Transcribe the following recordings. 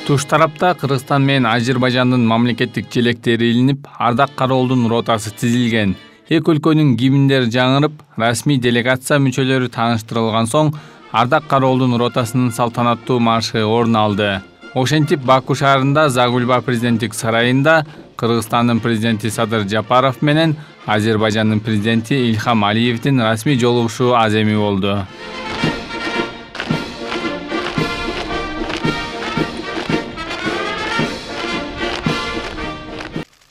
Туш тарапта Кыргызстан менен Азербайжандын мамлекеттик желектери илинип, Ардак Кароолдун ротасы тизилген. Эки өлкөнүн гимндери жаңырып, расмий делегация мүчөлөрү тааныштырылган соң, Ардак Кароолдун ротасынын салтанаттуу маршы орун алды. Ошентип Баку шаарында Загульба президенттик сарайында Кыргызстандын президенти Садыр Жапаров менен Азербайжандын президенти Ильхам Алиевдин расмий жолугушуу аземи болду.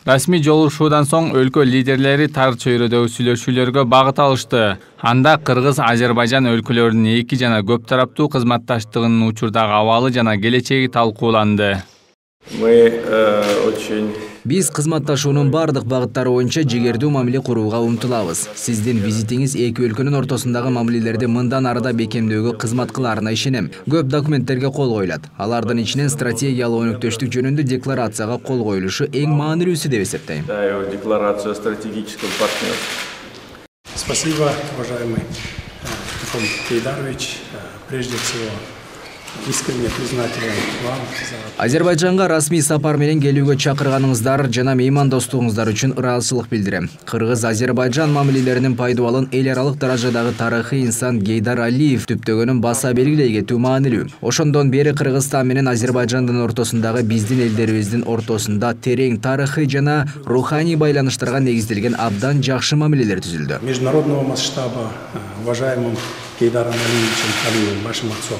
Расмий жолугушуудан соң өлкө лидерлери тар чөйрөдөгү сүйлөшүүлөргө багыт алышты. Анда Кыргыз-Азербайжан өлкөлөрүнүн эки жана көп тараптуу кызматташтыгынын учурдагы абалы жана келечеги талкууланды. Биз кызматташуунун бардык багыттары боюнча жигердүү мамиле курууга умтулабыз. Сиздин визитиңиз эки өлкөнүн ортосундагы мамилелерди мындан арыда бекемдөөгө кызмат кыларына ишенем. Көп документтерге кол коюлат. Алардын ичинен стратегиялык өнөктөштүк жөнүндө декларацияга кол коюлушу эң маанилүүсү деп эсептейм. Декларация стратегического партнерства. Спасибо, уважаемый Ильхам Кейдарович. Прежде всего, искренне признателен вам за... Азербайжанга расмий сапар менен келүүгө чакырганыңыздар жана меймандостугуңуздар үчүн ыраазычылык билдирем. Кыргыз-Азербайжан мамилелеринин пайдубалын эл аралык даражадагы тарыхый инсан Гейдар Алиев түптөгөнүн баса белгилей кетүү маанилүү. Ошондон бери Кыргызстан менен Азербайжандын ортосундагы биздин элдерибиздин ортосунда терең тарыхый жана руханий байланыштарга негизделген абдан жакшы мамилелер түзүлдү. Международного масштаба уважаемым Гейдаром Алиевичем Алиевым вашим отцом.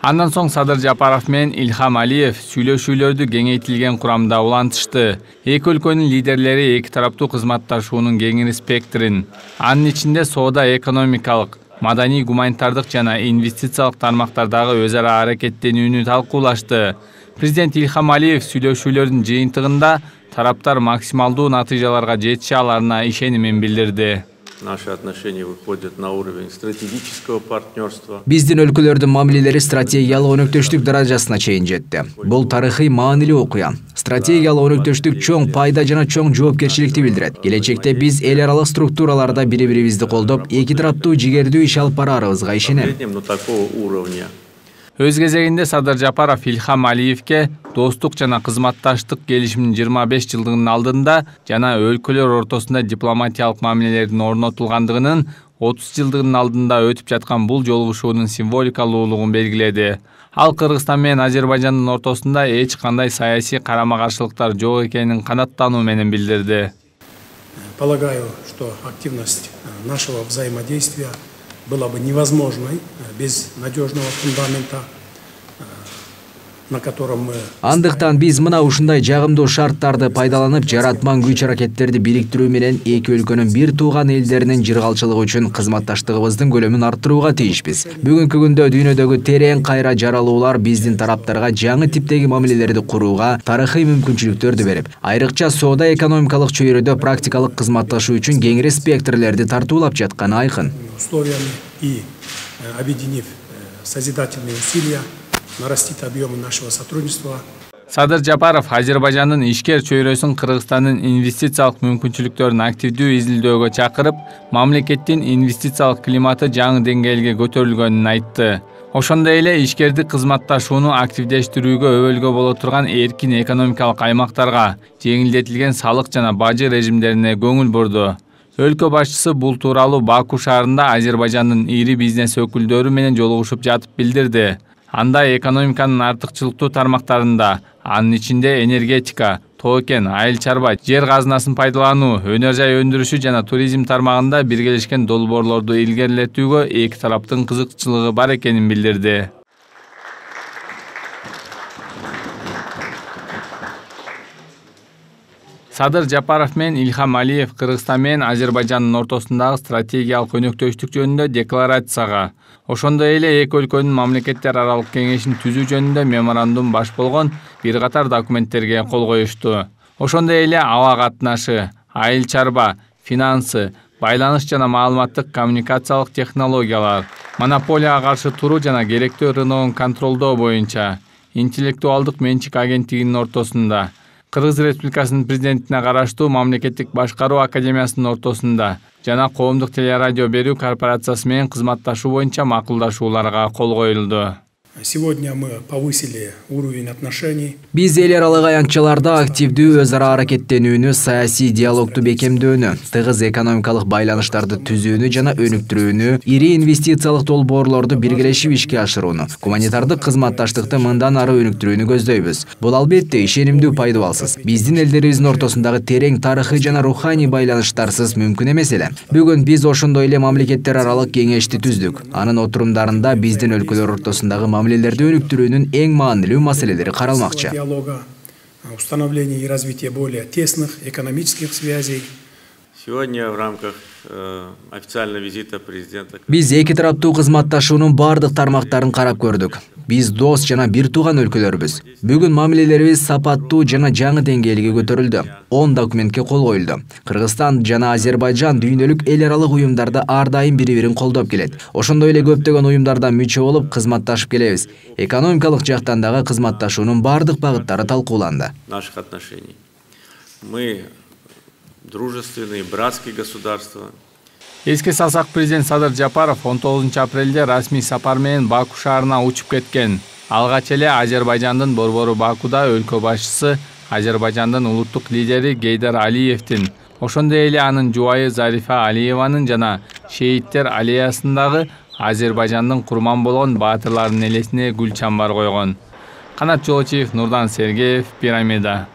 Андан соң Садыр Жапаров менен Ильхам Алиев сүйлөшүүлөрдү кеңейтилген курамда улантышты. Эки өлкөнүн лидерлери эки тараптуу кызматташуунун кеңири спектрин, анын ичинде соода, экономикалык, маданий, гуманитардык жана инвестициялык тармактардагы өз ара аракеттенүүнү талкуулашты. Президент Ильхам Алиев сүйлөшүүлөрдүн жыйынтыгында тараптар максималдуу натыйжаларга жетише аларына ишенимин билдирди. Наши отношения выходят на уровень стратегического партнерства. Биздин өлкөлөрдүн мамилелери стратегиялык өнөктөштүк даражасына чейин жетти. Бул тарыхый маанилүү окуя. Стратегиялык өнөктөштүк чоң пайда жана чоң жоопкерчиликти билдирет. Келечекте биз эл аралык структураларда бири-бирибизди колдоп, эки тараптуу жигердүү иш алып барарыбызга ишенем. Өз кезегинде Садыр Жапаров Ильхам Алиевке достук жана кызматташтык келишиминин 25 жылдыгынын алдында жана өлкөлөр ортосунда дипломатиялык мамилелердин орнотулгандыгынын 30 жылдыгынын алдында өтүп жаткан бул жолугушуунун символикалуулугун белгиледи. Ал Кыргызстан менен Азербайжандын ортосунда эч кандай саясий карама-каршылыктар жок экенин канаттануу менен билдирди. Полагаю, что активность нашего взаимодействия была бы невозможной без надежного фундамента, на котором мы... Андыктан биз мына ушундай жагымдуу шарттарды пайдаланып, жаратман күч-аракеттерди бириктирүү менен эки өлкөнүн бир тууган элдеринин жыргалчылыгы үчүн кызматташтыгыбыздын көлөмүн арттырууга тийишпиз. Бүгүнкү күндө дүйнөдөгү терең кайра жаралуулар биздин тараптарга жаңы типтеги мамилелерди курууга тарыхый мүмкүнчүлүктөрдү берип, айрыкча соода экономикалык чөйрөдө практикалык кызматташуу үчүн кеңири спектрлерди тартуулап жатканы айкын. Условиями и объединив созидательные усилия, нарастить объемы нашего сотрудничества. Садыр Жапаров Азербайжандын ишкер чөйрөсүн Кыргызстандын инвестициялык мүмкүнчүлүктөрүн активдүү изилдөөгө чакырып, мамлекеттин инвестициялык климаты жаңы деңгээлге көтөрүлгөнүн айтты. Ошондой эле ишкердик кызматташууну активдештирүүгө өбөлгө боло турган эркин экономикалык аймактарга, жеңилдетилген салык жана бажы режимдерине көңүл бурду. Өлкө башчысы бул тууралуу Баку шаарында Азербайжандын ири бизнес өкүлдөрү менен жолугушуп жатып билдирди. Анда экономиканын артыкчылыктуу тармактарында, анын ичинде энергетика, тоо кен, айыл чарба, жер казынасын пайдалануу, өнөр жай өндүрүшү жана туризм тармагында биргелешкен долбоорлорду илгерилетүүгө эки тараптын кызыкчылыгы бар экенин билдирди. Садыр Жапаров менен Ильхам Алиев Кыргызстан менен Азербайжандын ортосундагы стратегиялык өнөктөштүк жөнүндө декларацияга, ошондой эле эки өлкөнүн мамлекеттер аралык кеңешин түзүү жөнүндө меморандум баш болгон бир катар документтерге кол коюшту. Ошондой эле аба катнашы, айыл чарба, финансы, байланыш жана маалыматтык коммуникациялык технологиялар, монополияга каршы туруу жана керектүү рыногун контролдоо боюнча, интеллектуалдык менчик агенттигинин ортосунда, Кыргыз Республикасынын президентине караштуу мамлекеттик башкаруу академиясынын ортосунда жана коомдук телерадио берүү корпорациясы менен кызматташуу боюнча макулдашууларга кол коюлду. Сегодня мы повысили уровень отношений. Биз эл аралык аянтчаларда активдүү өз ара аракеттенүүнү, саясий диалогду бекемдөөнү, тыгыз экономикалык байланыштарды түзүүнү жана өнүктүрүүнү, ири инвестициялык долбоорлорду биргелешип ишке ашырууну, гуманитардык кызматташтыкты мындан ары өнүктүрүүнү көздөйбүз. Бул албетте ишенимдүү пайдубалсыз. Биздин элдерибиздин ортосундагы терең тарыхый жана руханий байланыштарсыз мүмкүн эмес эле. Бүгүн биз ошондой эле мамлекеттер аралык кеңешти түздүк. Анын отурумдарында биздин өлкөлөр ортосундагы мамилелерди өнүктүрүүнүн эң маанилүү маселелери каралмакчы. Диалога, установление и развитие более тесных экономических связей. Сегодня в рамках официального визита президента. Биз эки тараптуу кызматташуунун бардык тармактарын карап көрдүк. Биз дос жана бир тууган өлкөлөрбүз. Бүгүн мамилелерибиз сапаттуу жана жаңы деңгээлге көтөрүлдү. 10 документке кол коюлду. Кыргызстан жана Азербайжан дүйнөлүк эл аралык уюмдарда ар дайым бири-бирин колдоп келет. Ошондой эле көптөгөн уюмдарда мүчө болуп кызматташып келебиз. Экономикалык жактан дагы кызматташуунун бардык багыттары талкууланды. Наших отношений. Мы дружественные, братские государства. Эске салсак, президент Садыр Жапаров 19 апрелде расмий сапар менен Баку шаарына учуп кеткен. Алгач эле Азербайжандын борбору Бакуда өлкө башчысы Азербайжандын улуттук лидери Гейдар Алиевдин, ошондой эле анын жубайы Зарифа Алиеванын жана шейиттер аллеясындагы Азербайжандын курман болгон баатырлардын элесине гүл чамбар койгон. Канат Жолочиев, Нурдан Сергеев, Пирамида.